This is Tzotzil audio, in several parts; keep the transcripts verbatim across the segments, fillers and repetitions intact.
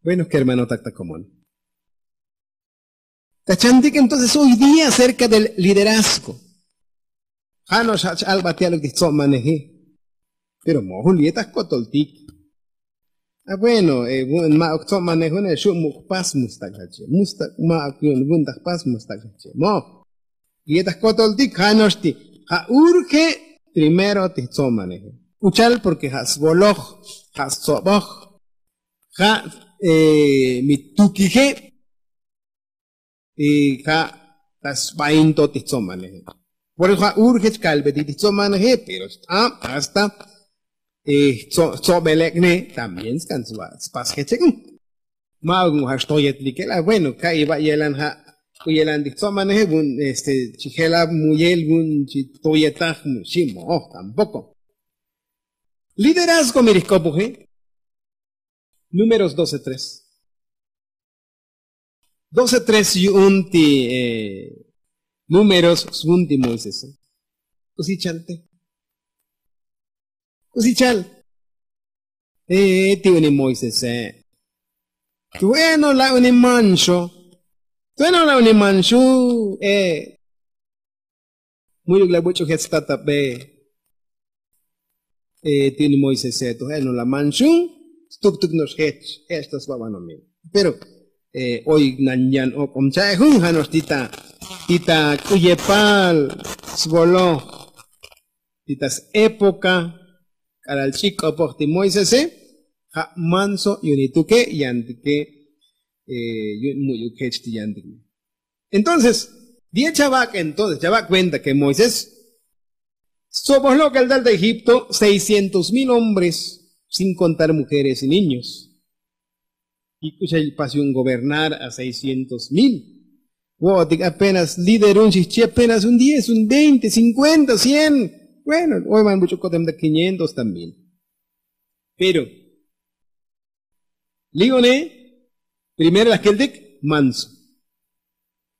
Bueno, kermanotak ta komon, ta chantik entonces hoy día acerka del liderazgo. Ja' no'ox ja' ch-albat ya'luk ti jtso'maneji. Pero mo'oj jun li'e ta jkotoltik. A bueno, vu'un ma'uk jtso'manej une xu' muk' jpas mustak' xache, mustak' ma'uk yu'un vu'un ta jpas mustak' xache mo'oj. Li'e ta jkotoltik ja' no'ox ti ja' urge primero ti jtso'maneje. Uchal porke ja' svoloj, ja' stsoboj, ja' mi tukije. Ja' ta sbainto ti jtsomaneje. Por eso ja' urge chkalbetik ti jtsomaneje pero xt'ab hasta jtsobelek'ne también skan spas jechek'un. Ma'uk mu ja' xtoyetlike la bueno ka'iy ba' yelan ja' k'u yelan ti jtsomaneje vu'un este chi jelab muyel vu'un chi toyetaj mu xi' mo'oj tampoko. Liderazgo mi ri jk'opoje. Números doce tres. Doce tres yu'un ti números svun ti moisese. K'usi chal te? K'usi chal? Ti uni moisese. Tu'eno la' uni manxo. Tu'eno la' uni manxu. Mu'yuk la buch'u jech statabe. Ti uni moisese tu je' no la manxun. Stuktuk no'ox jech ech ta sba banomil. Pero oy nan yan ok'om cha'e jun ja' no'ox ti ta ti ta k'u yepal svoloj ti ta s'epoka k'alal ch'ik k'opoj ti moisese. Ja' manso yu'un ituke yantike. Yu'un mu'yuk jech ti yantik. Entonces di'e chavak' entonces chavak' kuenta ke moisés stsoboj lok'el tal ta egipto seiscientos mil hombres sin kontar mujeres y niños. Y k'u xa pas yu'un gobernar a seiscientos mil. Vo'otik apenas líder un xijchi apenas un diez un veinte cinkuenta cien. Bueno oy man buch'u kotem ta quinientos ta mil. Pero li'one primero laj keltik manso.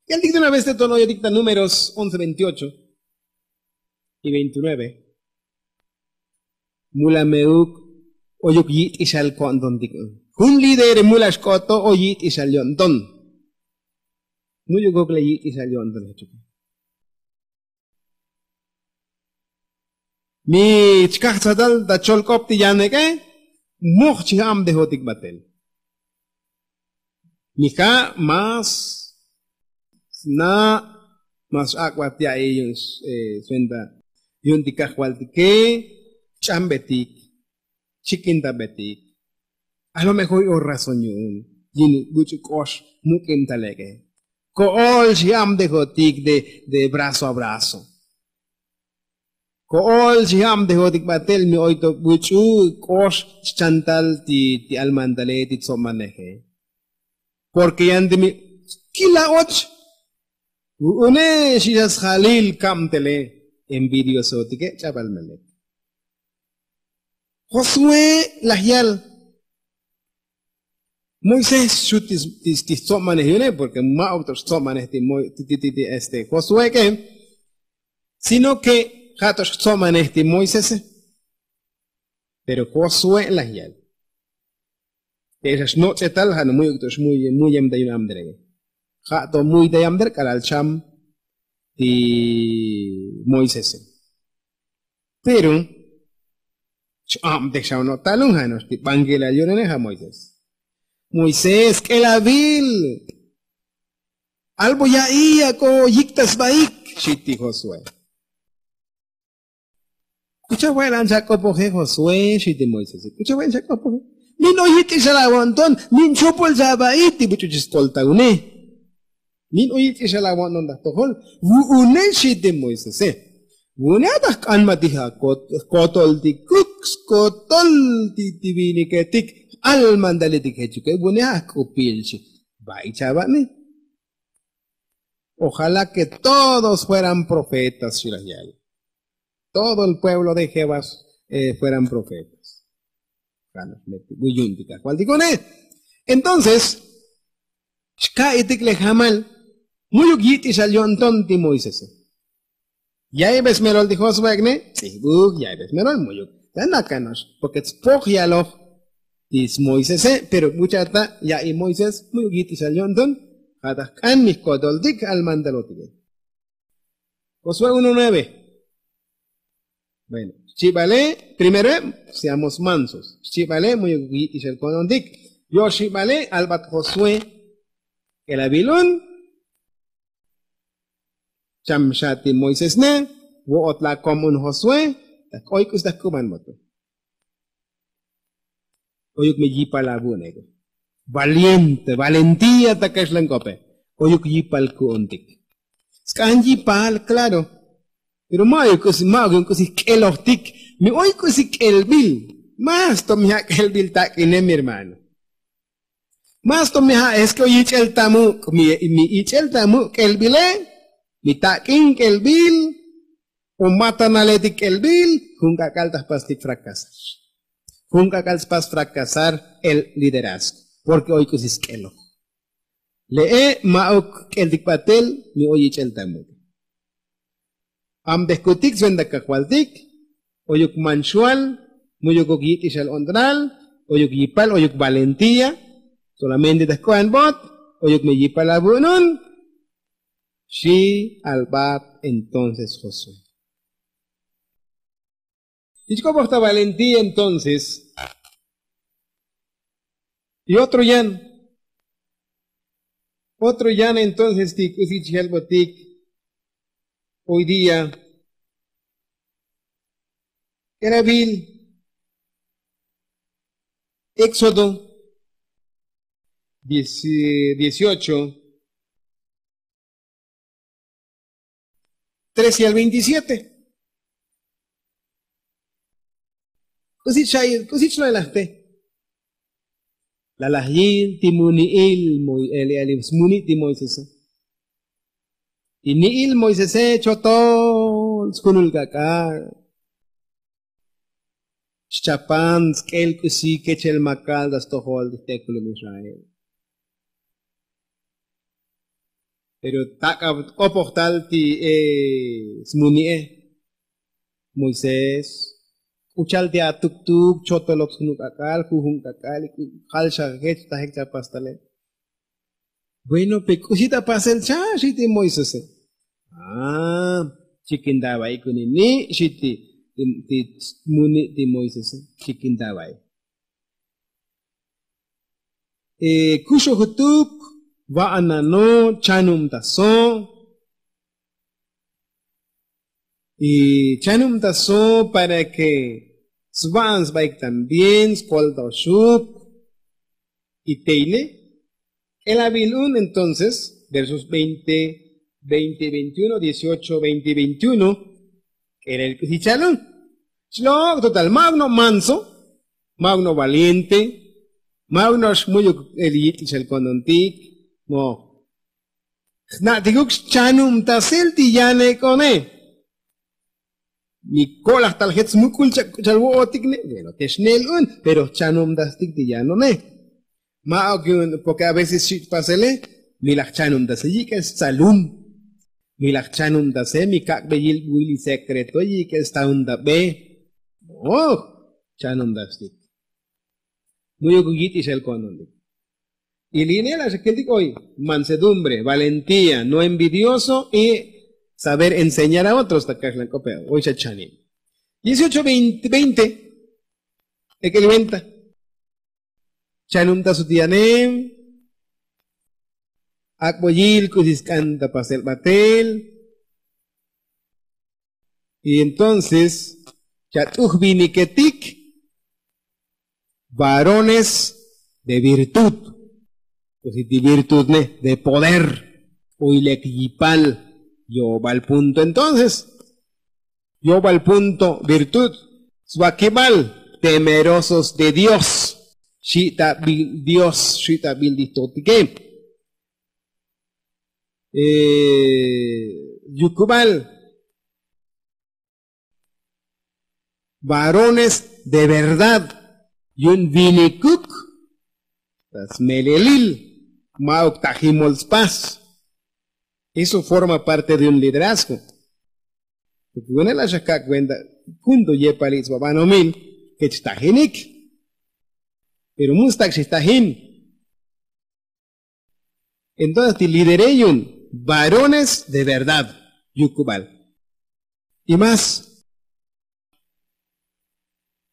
Keltik de una vez te ton oyotik ta números once veintiocho y veintinueve. Mula me'uk oyuk yit'ixal ko'ntontik. Jun líder mula xk'oto oy yit'ixal yo'nton. Mu'yuk ok la yit'ixal yo'nton jechuke. Mi chkaj tzatal ta cholk'op ti yanek'e. Moj chi ja'am dejotik batel. Mi ja' más sna' más x'ak'bat ya'i yu'un swenta yu'un ti kajvaltike. Ch'ambetik chikintabetik. A lo mejor oy razón yu'un yin buch'u k'ox muk'ib talek'e. Ko'ol xi ja'am dejotik de brazo a brazo. Ko'ol xi ja'am dejotik batel mi oy to buch'u k'ox chantal ti almantale ti tsomaneje. Porke yan ti mi kila och vu'une xi xa sjalil kabtele. Envidiosotike ch'abal melek. Josué laj yal. Moisés xu' ti stsomanej yu'une porke ma'uk to xtsomanej ti este josué k'e. Sino ke ja' to xtsomanej ti moisese. Pero josué laj yal. Te xa xnoch'etal ja' no muyuk to xmuyem ta yun amdere. Ja' to muy ta yamder k'alal cham ti moisese. Pero ch'abtej xa ono' talun ja' no'ox ti bankilal yu'unene ja' moisés. Moisés k'elavil. Albo ya'i ak'o yik ta sbaik xi ti josué. K'u chave'lan xa k'opoje josué xi ti moisese k'u chave'lan xa k'opoje. Min oy yit'ixal avo'nton min chopol xa aba'i ti buch'u chi skoltaune. Min oy yit'ixal avo'nton ta jtojol. Vu'une xi ti moisese. Vu'une ja' ta jk'anbatij akotol ti kuk skotol ti viniketik. Almantaletik jechuke vu'une ja' jk'upil xi. Ba'i chava'ne. Ojalá ke todos fueran profetas xi laj yal. Todo el pueblo de jehová fueran profetas. Vu'un ti kajvaltik une. Entonces xka'itik le jamal. Mu'yuk yit'ixal yo'nton ti moisese. Ya'ibe smelol ti josué ek'ne. Ts'ijbuj ya'ibe smelol mu'yuk. Tanakano'ox porke tspoj yaloj. ti smoisese. Pero buchata ya'i moisés mu'yuk yit'ixal yo'nton. Ja' ta jk'an mi jko'toltik al mandalotike. Josué uno nueve. Bueno, xchibale primero eb seamos mansos. Xchibale mu'yuk yit'ixal ko'ntontik. Yo' xibale albat josué. K'elabil un. Cham xa ti moisés ne. Vo'ot la kom un josué. Ta k'oy k'us ta jk'uban boto. Oyuk me yipal avu'un ego. Valiente valentía ta kaxlan k'ope. Oyuk yipal ku'untik. Sk'an yipal klaro. Pero ma'oyuk k'usi ma'oyuk k'usi jk'elojtik. Mi oy k'usi k'elbil. Más to mi ja' k'elbil tak'ine mi hermano. Más to mi ja' es ke oy yich'el ta muk' mi ich'el ta muk' k'elbile. Mi tak'in k'elbil. O matanaletik k'elbil. Jun k'ak'al ta jpastik fracasar. Jun k'ak'al spas fracasar el liderazgo. Porke oy k'usi sk'eloj. Le'e ma'uk k'eltik batel. Mi oy yich'el ta muk'. Am dejkutik sventa kajvaltik. Oyuk manxual. Mu'yukuk yit'ixal o'ntonal. Oyuk yipal oyuk valentía. Solamente ta jk'u'anbot. Oyuk me yipal avu'unun. Xi albat entonces josué. Jich k'opoj ta valentía entonces. Y otro yan. Otro yan entonces ti k'usi chjelbotik. Hoy día k'erabil éxodo dieciocho. Trece al veintisiete. K'usi cha'il k'usi chlalajte. Lalajyil ti muni'il moy eli eli smuni' ti moisese. Ti ni'il moisese chotol skunul k'ak'al. Xchapan sk'el k'usi kechel makal ta stojol ti jtekulub israel. Pero tak'ab k'opojtal ti smuni'e. Moisés k'uchal ti atuktuk chotolok snu k'ak'al jujun k'ak'al. Jal xa jech tajek cha pastale. Bueno pe k'usi ta pasel cha xi ti moisese. Chikin ta va'i kunini' xi ti muni' ti moisese. Chikin ta va'i. Kuxujutuk va'anano' chanumtaso'. Y chanumtaso' para ke sva'an svaik también skoltoxuk. Y teine k'elabil un entonces versos veinte, veinte veintiuno dieciocho veinte veintiuno. K'elel k'usi chalun. Chlok' total ma'uk no' manso. Ma'uk no' valiente. Ma'uk no' xmu'yuk el yit'ixal ko'ntontik. Mo jna'tikuk xchanubtasel ti yanek'one. Mi ko'laj tal jet smuk'ul chak k'uchal vo'otik ne. Bueno te xnel un pero jchanubtastik ti yanone. Ma'uk yu'un porke a veces xi' pasele. Mi laj jchanubtase yik'el stzalun. Mi laj jchanubtase mi kak'beyil buil sekreto yik'el stauntabe. Chanubtastik. Mu'yuk yit'ixel ko'ntontik. Y li'ine la' xa kiltik oy mansedumbre valentía no envidioso y saber enseñar a otros ta kaxlan k'ope. Oy xa chanib. Dieciocho veinte veinte. Ek'el venta. Chanubtasut yanem. Ak'boyil k'usi sk'an ta pasel batel. Y entonces chat'uj viniketik varones de virtud. K'usi ti virtud ne de poder. Oy lek yipal. Yo'obal punto entonces. Yo'obal punto virtud. Svakibal temerosos de dios. Xi' ta bil dios xi' ta bil ti jtojtike. Yukubal varones de verdad. Yu'un vinikuk ta smelelil. Ma'uk tajimol spas. Eso forma parte de un liderazgo. Porke vune' la' xa kak' kuenta. Junto yepal its'ba banomil kech tajinik. Pero mustak xijtajin. Entonces ti lidere yun varones de verdad yukubal. Y más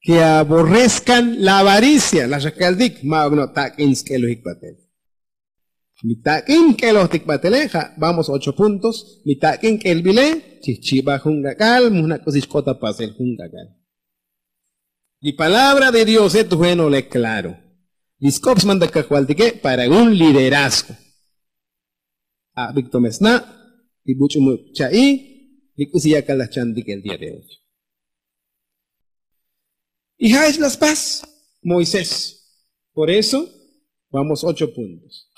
ke aborrezkan la avaricia la xakaltik ma' okno' tak'in sk'elojik batel. Mi tak'in k'elojtik batele ja' vamos ocho puntos. Mi tak'in k'elbile chijchiba jun k'ak'al mujna' k'usi xk'ota pasel jun k'ak'al. Li palabra de diose tujenole klaro. Li sk'op smanta kajvaltike para un liderazgo. Abik to me sna' li buch'u muk' cha'i li k'usi yakal laj chantik el día de hoy. Y ja' ech la spas moisés. Por eso vamos ocho puntos.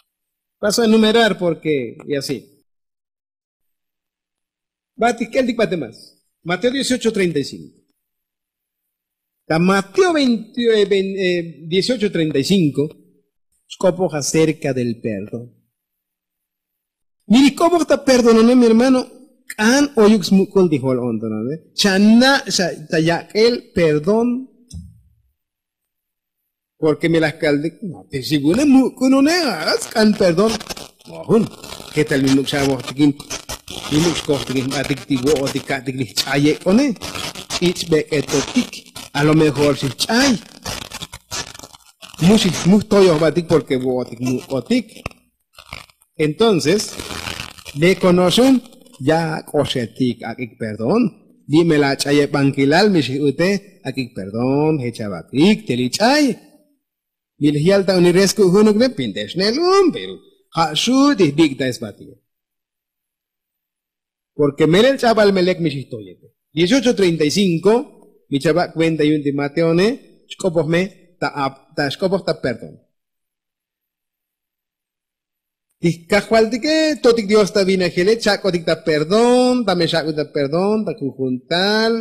Paso a enumerar porque y así. Batik k'eltik bate más. Mateo dieciocho treinta y cinco. Ta mateo dieciocho treinta y cinco. Xk'opoj acerca del perdón. Miri k'opoj ta perdonone mi hermano. K'an oyuk smuk'ul ti jol ontonone chana' ta yak'el perdón. Porque mi laj kaltik no te xigune muk'unune. Sk'an perdón. Jun ketal mi muk' xabojtikin mi muk' xkojtikin jbatik ti vo'otik ka'tik li jch'ayek'one. Ch'ich' bek'etotik. A lo mejor xijch'ay mu xijmu jtoyojbatik porque vo'otik muk'otik. Entonces leko no'oxun ya ak'oxetik ak'ik perdón. Li' me la ach'ayebankilal mi xijute ak'ik perdón jech abakik te li ch'ay. Mi laj yal ta unires kuk' junuk ne pintex ne'lum pero ja' xu' ti jbik'ta esbatik. Porque melel ch'abal me lek mi xijtoyete. Dieciocho treinta y cinco. Mi chabak' kuenta yun ti mateone xk'opoj me ta xk'opoj ta perdón. Ti kajvaltike totik dios ta vinajile chak'otik ta perdón ta me xak'otik ta perdón ta jujuntal.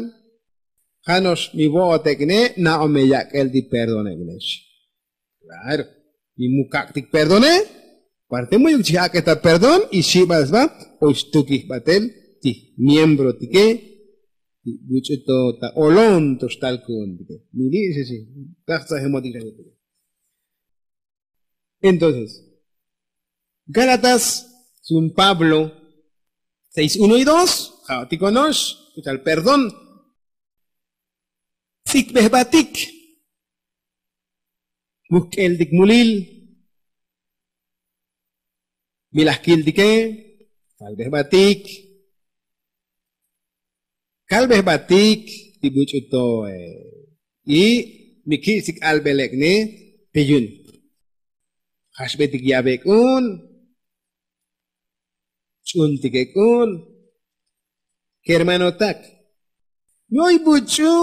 Ja' no'ox mi vo'otek'ne na'o me yak'el ti perdonek'nex. Klaro. Mi mukak'tik perdone. Parte muyuk chijak' ta perdón y xibal sba oy xtukij batel ti jmiembrotike ti buch'u to ta olon to xtal ku'untike. Mi li' xixi kajtsajemotik xaxutike. Entonces gálatas sun pablo seis uno y dos. Ja'otikono'ox k'uchal perdón. Tz'ikbejbatik. Mujk'eltik mulil. Mi laj kiltike. Kalbejbatik. Kalbejbatik ti buch'u to. Y mi ki'sik albelek'ne pe yun. Jaxbetik yabek'un. Ch'untikek'un. Kermanotak. Mi oy buch'u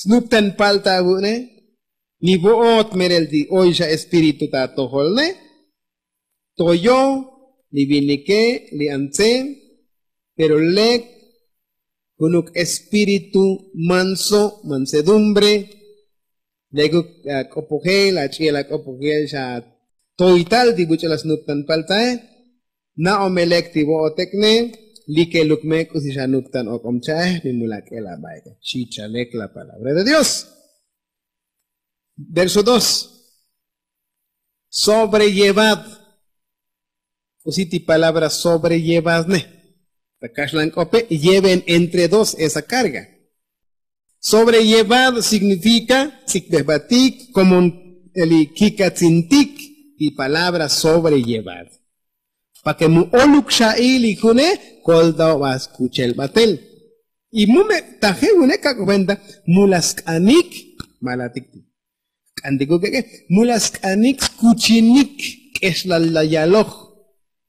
snuptan palta avu'ne. Mi vo'ot merel ti oy xa espíritu ta atojolne. Toyo li vinike li antse. Pero lek junuk espíritu manso mansedumbre. Lekuk ak'opojel ach'i'el ak'opojel xa toytal ti buch'u la snuptan paltae. Na'o me lek ti vo'otekne. Likeluk me k'usi xa nuptan ok'om cha'ej mi mulak'el abaike. Xi chalek la palabra de dios. Verso dos. Sobrellevad. K'usi ti palabra sobrellevad ne. Ta kaxlan k'ope lleven entre dos esa karga. Sobrellevad signifika tz'ikbejbatik komon. Eli kikatzintik ti palabra sobrellevad. Pake mu oluk xa'i li june kolta oba skuchel batel. Y mu me taje june kak' kuenta mu la sk'anik. Malatik ti k'antikuk ek'e mu la sk'anik skuchinik. K'exlal la yaloj.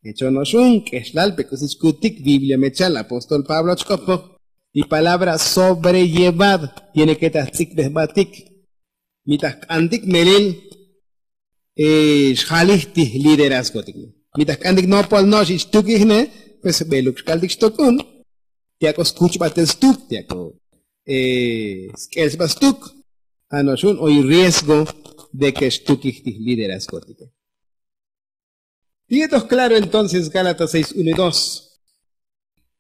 Echono'oxun k'exlal pe k'usi xkutik biblia mechal apóstol pablo chk'opoj. Li palabra sobrellevad tiene ke ta jtz'ikbejbatik. Mi ta jk'antik melil xjalij ti jliderazgotik. Mi ta jk'antik nopol no'ox ixtukijne pues jbeluk xkaltik xtok'un. Ti ak'o skuchbatel stuk ti ak'o sk'el sba stuk. Ja' no'oxun oy riesgo de ke xtukij ti jliderazgotike. Ti yetoj klaro entonces gálatas seis uno y dos.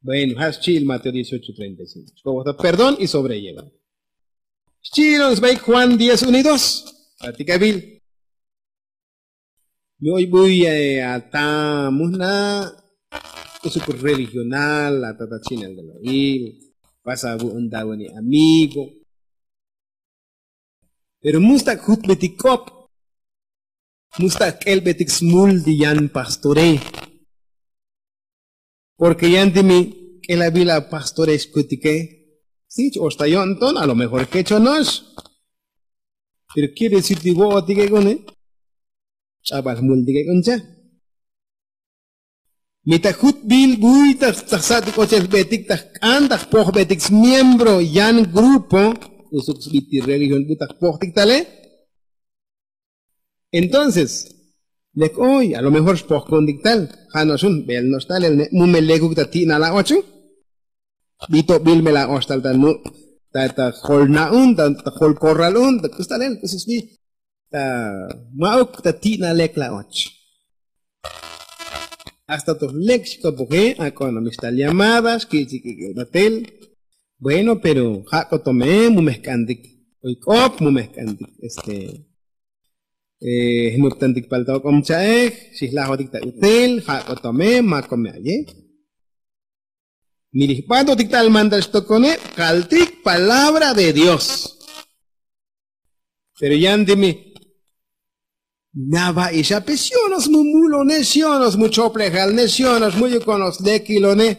Bueno ja' xchi'il mateo dieciocho treinta y cinco xk'opoj ta perdón y sobrellevar. Xchi'ilon sbaik juan diez uno y dos. Satikabil. Mi oy buy ata mujna' usuk religional ata ta chinal de lo'il pasa bu'un dawani amigo. Pero mustak jutbetik k'op, mustak k'elbetik smul ti yan pastore. Porke yan ti mi k'elabil a pastore xkutike. Si ch-oxta yo'nton a lo mejor kechonox. Pero quiere decir ti vo'otik ek'une, ch'abal multik ek'un cha. Mi ta jutbil buy ta sa'tik ochel jbetik ta jk'an ta jpojbetik smiembro yan grupo usuk sbit ti religión bu ta jpojtik tale. Entonces lek oy a lo mejor xpojkuntik tal ja' no'xun bel no'ox talel ne' mu me lekuk ta ti'nal a ochu. Bitobil me la oxtal ta nu' ta jol na'un ta jol korral un ta k'us talel k'us sbi ta ma'uk ta ti'na lek la och. Hasta toj lek xk'opoje ak'o no mixtal llamada xkich'ik ik'il batel. Bueno pero ja' k'o tome mu mejk'antik oy k'op mu mejk'antik este jnuptantik pal ta ok'om cha'ej xijlajotik ta utel ja' k'o tome ma kome aye. Mi li jbatotik tal mantal xtokone kaltik palabra de dios. Pero yan ti mi nava' ixape xionos mu mulone xionos mu choplejal ne xionos mu yukonos lekilone.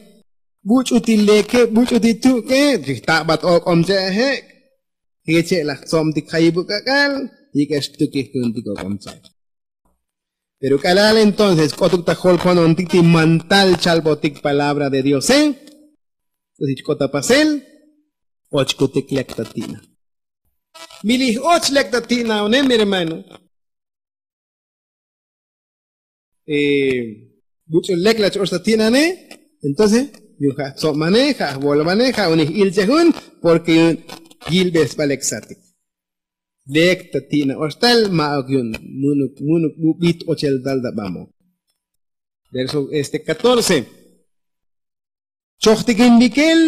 Buch'u ti leke buch'u ti tu'ke chijtabat ok'om che'ejek'. Jeche' laj tzobtik jayibuk ak'al yik'ex tukijkuntik ok'om che'ej. Pero k'alal entonces k'otuk ta jolkonontik ti mantal chalbotik palabra de diose. K'usi chk'ot ta pasel och kutik lek ta ti'na. Mi li j'och lek ta ti'na one mi hermano. Buch'u lek la ch-och ta ti'nane. Entonces yuj ja' jtzobmane ja' jvolvane ja' une j'ilchej un. Porke yuj yilbesba lek satik lek ta ti'na oxtal ma'uk yu'un munuk munuk bubit ochel tal ta bamok. Verso este catorce. Chojtikin bikel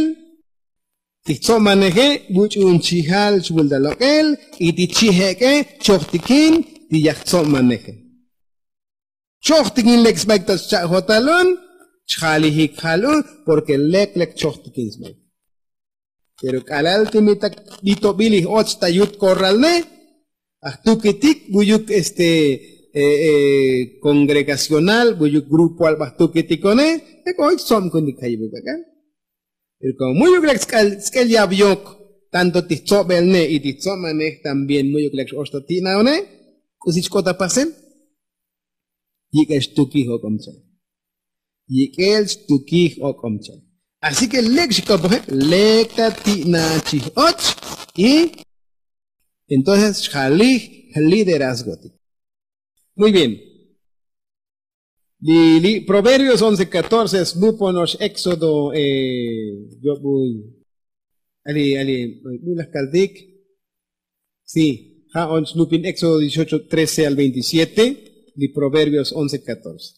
ti jtzobmaneje buch'u un chijal chvul ta lok'el y ti chijek'e chojtikin ti yaj jtzobmaneje. Chojtikin lek sbaik ta scha'jotal un chjalijik jal un. Porke lek lek chojtikin sbaik. Pero k'alal ti mi ta bitobil ij och ta yut korralne ajtukitik buyuk este kongregacional buyuk grupoal bajtukitikone. Ek' oy tzobkunik jayibuk ak'al. Pero komo mu'yuk lek sk'el yabyok tanto ti jtzobelne y ti jtzobmanej también mu'yuk lek x-och ta ti'naone. K'usi chk'ot ta pasel yik'el xtukij ok'om cha'ej. Yik'el xtukij ok'om cha'ej. Así ke lek xk'opoje lek ta ti'na chij och y entonces xjalij jliderazgotik. Muy bien. Li li proverbios once catorce smuponox éxodo. Yobuy ali ali buy laj kaltik. Si ja' on snupin éxodo dieciocho trece al veintisiete. Li proverbios once catorce.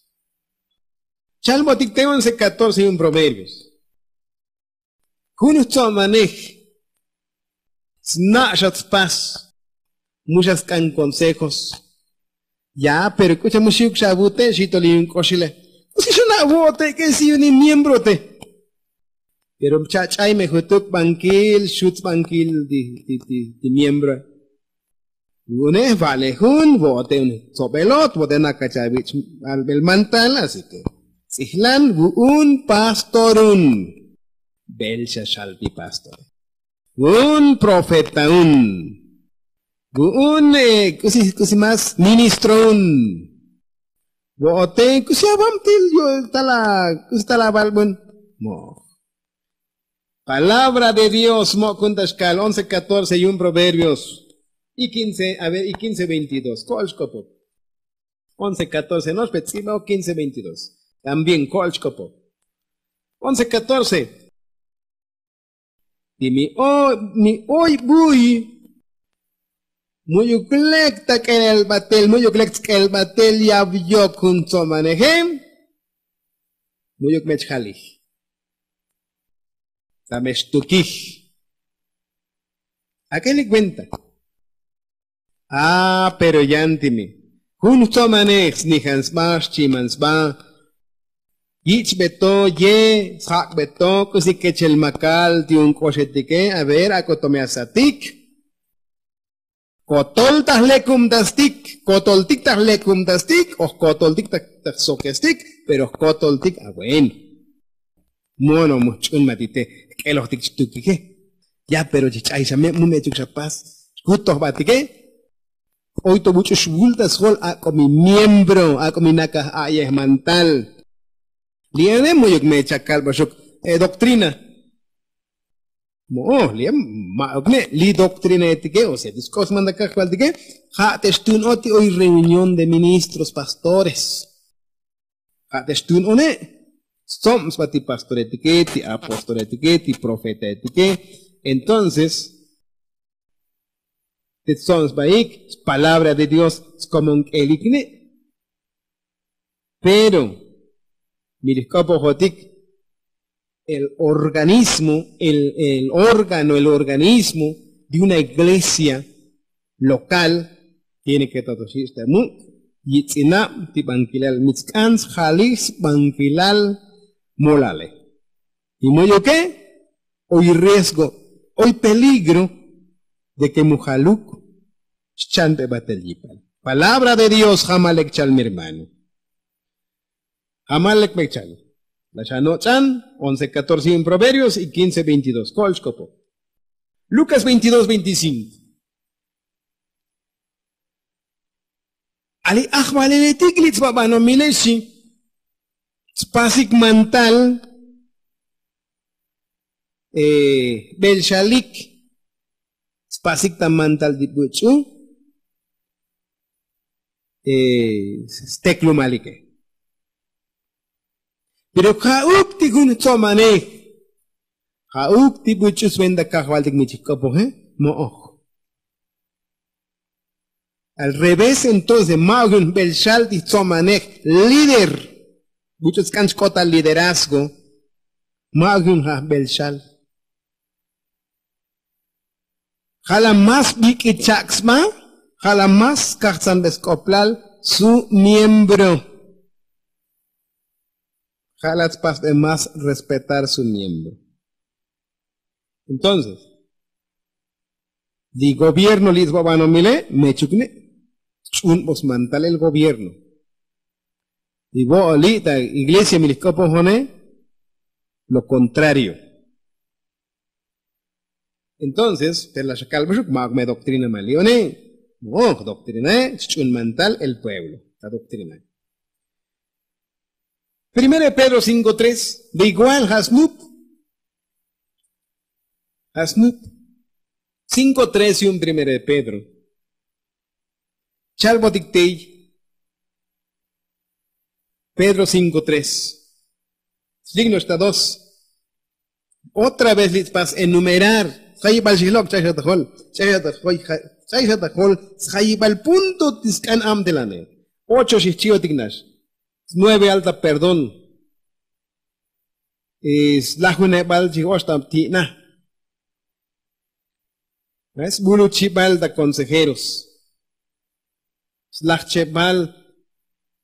Chalbotik te once catorce yu'un proverbios. Jun jtzobmanej sna' xa tspas mu xa sk'an konsejos. Ya pero k'u cha mu xiuk xa avute' xitol yu'un k'oxile. K'usi xana' vo'ote' k'e si yu'un in miembrote'. Pero chach'ay me jutuk bankil xutz bankil ti miembro. Vu'une' va'le jun vo'ote' un tsobelot vo'ote' nakach avich' albel mantal así ke tz'ijlan vu'un pastorun. Bel xa xal ti pastore. Vu'un profetaun. Vu'un k'usi k'usi más ministroun. Vo'ote' k'usi avamtil yu' tala k'usi tala valbun. Moj. Palabra de dios mo'kun ta xkal once catorce yu'un proverbios. Y quince a ver y quince veintidos ko'ol xk'opop. Once catorce no'ox pe tz'iba o quince veintidos. También ko'ol xk'opop. Once catorce. Y mi oy buy mu'yuk lek ta k'elel batel mu'yuk lek tsk'el batel yab yok jun tzobaneje. Mu'yuk mech jalij. Ta mech tukij. Ak'el li kuenta. A pero yan ti mi jun jtsomanej snijan sba xchiman sba. Yich' beto ye sjak' beto k'usi kechel makal ti un k'oxetike. A ver ak'o to me asatik. Kotol ta jlekum ta stik kotol tik ta jlekum ta stik o jkotol tik ta jsoke stik. Pero jkotol tik a bueno. Mono mu jch'un ma ti te jk'eloj tik chtukike. Ya pero chi ch'ay xa me' mu me' chuk xa pas xkut tojba tike. Oy to buch'u xvul ta sjol ak'o mi miembro ak'o mi nakaj a'yej mantal. Li' ane mu'yuk me chakal baxuk e doktrina. Mo'o li' ma'uk ne' li' doktrina etike o sea ti sk'os manda kajval tike. Ja' te xtun o ti oy reunión de ministros pastores. Ja' te xtun o ne' stsob sba ti pastoretike ti apostoretike ti profetaetike. Entonces te tsob sbaik spalabra de dios. Skomon k'elik ne' pero mi li jk'opojotik el organismo el órgano el organismo de una iglesia local tiene ke tatoxich' ta muk' yitz'inab ti bankilal mi tsk'an sjalij sbankilal. Molale y mu'yuke oy riesgo oy peligro de ke mu jaluk xchan bebatel yipal. Palabra de dios jamal lek chal mi hermano. Jamal lek bek chal. La xanoch'an once catorce y un proverbios y quince veintidós ko'ol xkopo. Lucas veintidós veinticinco. Ali ajvaleletik li' tsbabanomile xi tspasik mantal. Belxalik tspasik ta mantal ti buch'u steklumalike. Pero ja'uk ti jun jtsomanej ja'uk ti buch'u sventa kajvaltik mi chijk'opoje. Mo'oj. Al revés entonces ma'uk jun jbel xal ti jtsomanej líder. Buch'u tsk'an chk'ot ta liderazgo. Ma'uk jun ja' jbel xal. Ja' la más bik'it chak' sba. Ja' la más kajtsanbe sk'oplal su miembro. Ja' la tspasbe más respetar su miembro. Entonces li gobierno li' tsbabanomile mechuk ne' ch'unbos mantal el gobierno. Y bo'o li' ta iglesia mi li jk'opojone lo contrario. Entonces te la xakalbaxuk ma'uk me doktrina ma li' one. Mo'oj doktrinae chch'un mantal el pueblo ta doktrinae. Primero de pedro cinko tres de igual ja' snup. Ja' snup cinko tres yu'un primero de pedro. Chalbotik tey. Pedro cinko tres. Slik no'ox ta dos. Otra vez li' tspas enumerar. Sjayibal xijlok' ch'ay xa ta jol. Ch'ay xa ta jol. Ch'ay xa ta jol. Sjayibal punto ti sk'an abtelane. Ocho xijchi'otik nax. Snueve alta perdón. Slajunebal chij oxtab ti'na. Sbuluchibal ta consejeros. Slajchebal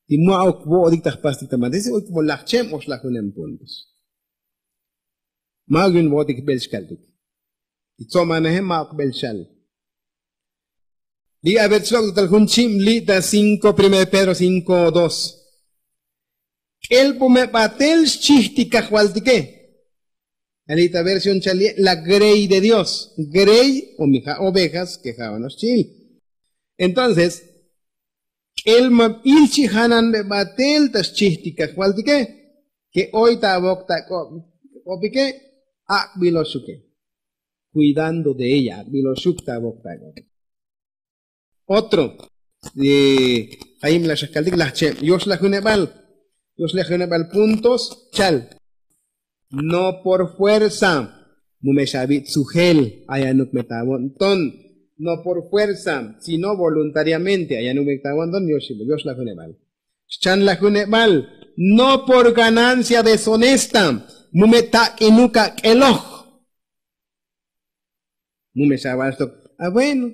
ti ma'uk vo'otik ta jpastik ta mates oy komo lajcheb o xlajunem puntos. Ma'uk yun vo'otik jbel xkaltik. Ti tsomaneje ma'uk jbel xal. Li' aver tslok' tal jun chib li' ta cinko primero de pedro cinko dos. K'el po me batel xchij ti kajvaltike. Ali' ta versión chal ye' la grey de dios. Grey o mi ja' ovejas ke ja' ono'ox chi'il. Entonces k'el ma ilchijanan be batel ta xchij ti kajvaltike ke oy ta avok ta k'opike. Ak'biloxuke. Cuidando de ella ak'biloxuk ta avok ta k'opike. Otro jayim la xajkaltik laj cheb yoxlajunebal. Yoxlajunebal puntos chal. No por fuerza. Mu me xavi' tsujel ayanuk me ta avo'nton. No por fuerza sino voluntariamente ayanuk me ta avo'nton. Yoxlajunebal. Xchanlajunebal. No por ganancia deshonesta. Mu me tak'inuk ak'eloj. Mu me xaval xtok. A bueno.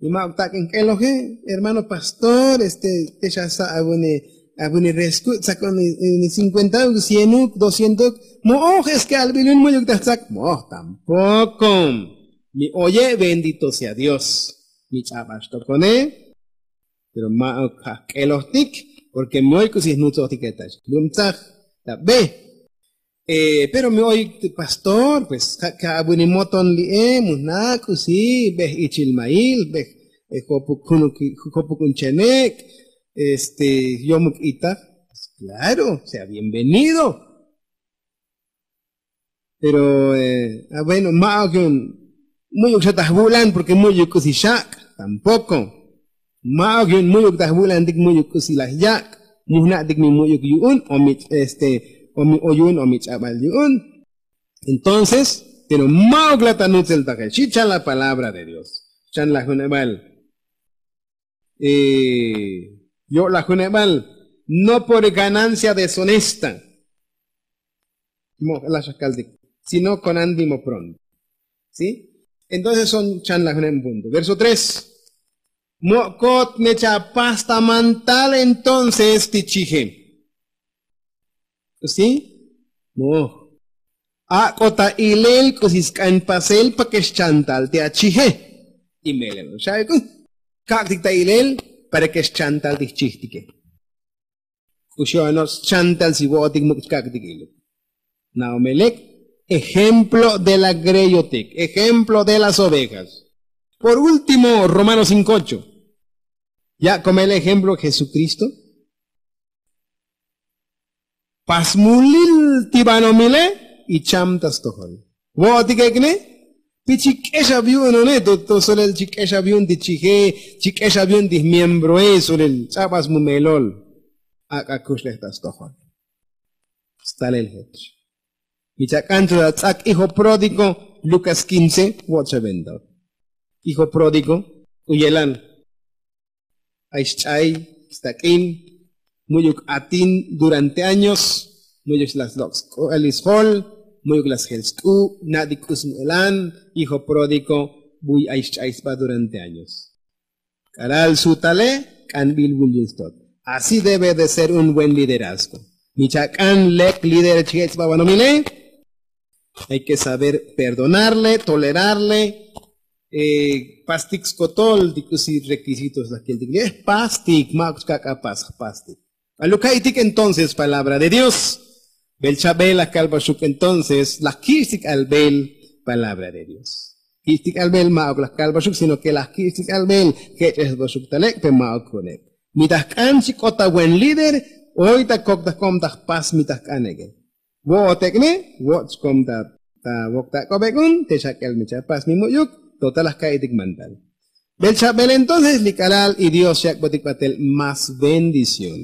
Y ma' oktak' en k'eloje, hermano pastor, este, te xa sa' avune avune resku' tzakon ni cincuenta uk cienuk doscientok. Mo'oj es que albilun mu'yuk taj tzak mo'oj tampoko. Mi oye bendito sea dios. Mi ch'ab'ax tokone. Pero ma' ok ja' k'elojtik, porque mi oy k'usi jnutzojtik etax lum tzaj ta be. Pero mi oy pastor pues ja' ka abunimoton li'e mu jna' k'usi bej ichil mail bej jopuk junuk jopuk un chenek'. Este yomuk itaj. Claro, sea bienvenido. Pero bueno, ma'ok yu'un mu'yuk xa taj vu'lan porque mu'yuk k'usi xak'. Tampoko. Ma'ok yu'un mu'yuk taj vu'lantik mu'yuk k'usi laj yak'. Mujna'tik mi mu'yuk yu'un o mi este o mi o yu'un o mi ch'ab'al yu'un. Entonces pero ma'ok la ta nutzel taje xi' chan la palabra de dios. Chan la juneb'al. Yo' la juneb'al no por ganancia deshonesta. Mo' la xajkaltik sino kon antimo pronto. Si? Entonces son chan la juneb' punto verso tres. Mo'kot me chapas ta mantal entonces ti chije. Si? Moj. Ak'o ta ilel k'usi sk'an pasel pa ke xchantal ti achije. Imelel xa'ik'u. Kak'tik ta ilel para ke xchantal ti jchijtike. K'uxi' ano'och chantal si vo'otik muk' chkak'tik iluk. Na'omelek ejemplo de la greyotik ejemplo de las ovejas. Por último romano cinkocho. Ya' komel ejemplo jesukristo. Pasmulil ti banomile. Y cham ta stojol vo'otik ek'ne. Pi chi k'exab yu'un one to solel chi k'exab yu'un ti chije. Chi k'exab yu'un ti jmiembroe solel ch'abas mu melol. Ak'a kuxlej ta stojol. Stalel jech. Mi chak'an to ta tz'ak hijo pródigo. Lukas kince vo'ot xa venta. Hijo pródigo k'u yelan. Ay xch'ay stak'in mu'yuk atin durante años. Mu'yuk la slok' sk'u'al isjol. Mu'yuk la sjel sk'u' na'tik k'u smu'elan. Hijo pródigo buy ay xch'ay sba durante años. K'alal sutale k'anbil vul yul stot. Así debe de ser un buen liderazgo. Mi chak'an lek lider chije' sba banomile. Hay ke saber perdonarle tolerarle. Pastik skotol ti k'usi requisitos laj keltik li' jpastik ma' ok chkak'a pas jpastik. Aluk ka'itik entonces palabra de dios. Bel chabel laj kalbaxuk entonces laj ki'xtik albel. Palabra de dios. Ki'xtik albel ma' ok laj kalbaxuk sino ke laj ki'xtik albel. Jech'esbaxuk talek' pe ma' ok juneb. Mi taj k'an chi k'ot ta buen líder. Oy ta kok ta kom ta jpas mi taj k'an ek'e. Vo'ot ek'ne vo'ot chkom ta ta vok ta ak'ob ek'un te xak'el mi chapas mi mu'yuk. Total laj ka'itik mantal. Bel chabel entonces li k'alal y dios xyak'botik batel más bendición.